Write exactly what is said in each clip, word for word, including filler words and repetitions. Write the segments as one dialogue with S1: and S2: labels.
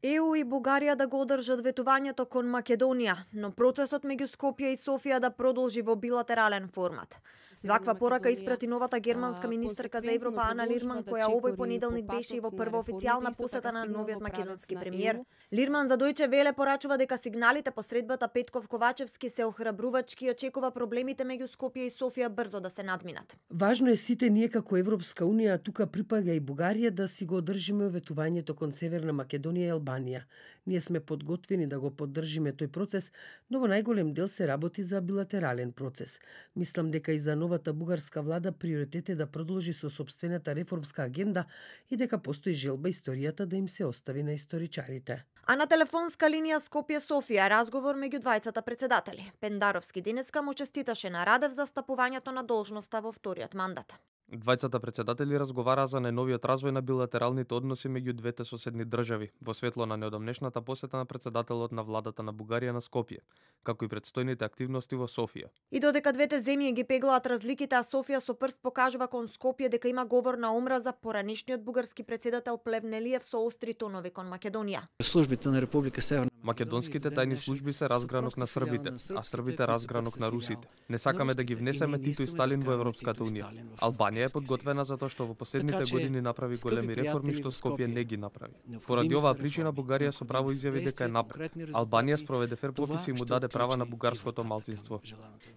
S1: Е У и Бугарија да го одржат ветувањето кон Македонија, но процесот меѓу Скопје и Софија да продолжи во билатерален формат. Ваква порака испрати новата германска министерка за Европа Ана Лирман, која овој понеделник беше и во прва официјална посета на новиот македонски премиер. Лирман за Дојче Веле порачува дека сигналите по средбата Петков-Ковачевски се охрабрувачки и очекува проблемите меѓу Скопје и Софија брзо да се надминат.
S2: Важно е сите ние како Европска унија, а тука припаѓа и Бугарија, да си го одржиме ветувањето кон Северна Македонија и Албанија. Ние сме подготвени да го поддржиме тој процес, но во најголем дел се работи за билатерален процес. Мислам дека и за новата бугарска влада приоритет е да продолжи со сопствената реформска агенда и дека постои желба историјата да им се остави на историчарите.
S1: А на телефонска линија Скопје-Софија разговор меѓу двајцата председатели. Пендаровски денеска му честиташе на Радев за стапувањето на должноста во вториот мандат.
S3: Двајцата председатели разговараа за најновиот развој на билатералните односи меѓу двете соседни држави, во светло на неодамнешната посета на председателот на владата на Бугарија на Скопје, како и предстојните активности во Софија.
S1: И додека двете земји ги пеглаат разликите, а Софија со прст покажува кон Скопје дека има говор на омраза, поранешниот бугарски председател Плевнелиев со остри тонови кон Македонија.
S4: Службите на Република Северна
S3: Македонските тајни служби се разгранок на србите, а србите разгранок на русите. Не сакаме да ги внесеме Тито и Сталин во Европската унија. Албанија е подготвена затоа што во последните години направи големи реформи што Скопје не ги направи. Поради оваа причина Бугарија со право изјави дека е напред. Албанија спроведе фер попис и му даде права на бугарското малцинство.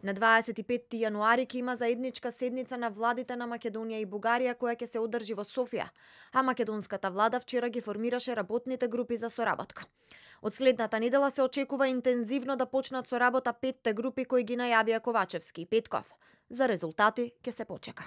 S1: На дваесет и петти јануари ќе има заедничка седница на владите на Македонија и Бугарија која ќе се одржи во Софија, а македонската влада вчера ги формираше работните групи за соработка. Од следната недела се очекува интензивно да почнат со работа петте групи кои ги најавија Ковачевски и Петков. За резултати ќе се почека.